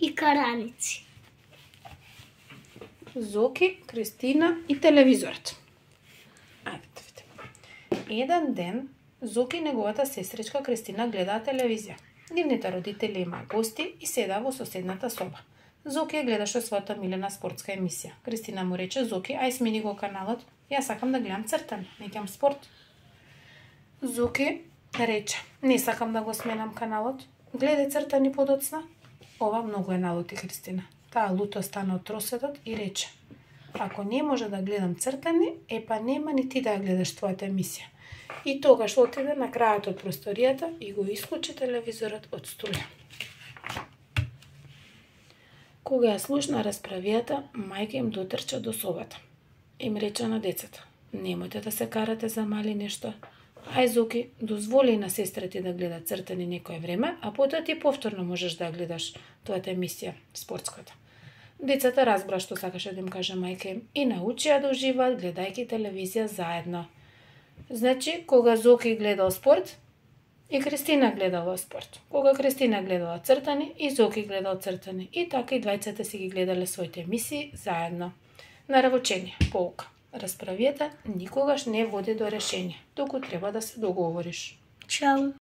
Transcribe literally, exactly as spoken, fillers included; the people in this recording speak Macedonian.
и караници. Зоки, Кристина и телевизорот. Ајде да видиме. Еден ден Зоки и неговата сестричка Кристина гледаат телевизија. Нивните родители имаа гости и седаа во соседната соба. Зоки ја гледаше својата милена спортска емисија. Кристина му рече: Зоки, ај смени го каналот, јас сакам да гледам цртани, не ќам спорт. Зоки рече: не сакам да го сменам каналот, гледај цртани подоцна. Ова многу е налути Кристина. Таа луто стана од тросетот и рече: ако не може да гледам цртани, епа нема ни ти да ја гледаш твојата емисија. И тогаш отиде на крајот од просторијата и го исклучи телевизорот од струја. Кога ја слушна расправијата, мајка им дотрча до собата. Им рече на децата: немојте да се карате за мали нешто. Ај Зоки, дозволи на сестра ти да гледа цртани некое време, а потоа ти повторно можеш да ја гледаш твојата емисија, спортската. Децата разбра што сакаше да им каже мајка им и научија да уживаат гледајќи телевизија заедно. Значи, кога Зоки гледал спорт, и Кристина гледала спорт. Кога Кристина гледала цртани, и Зоки гледал цртани. И така и двајцата си ги гледале своите емисии заедно. Наравочение, поука. Расправијата никогаш не води до решение, туку треба да се договориш. Чао.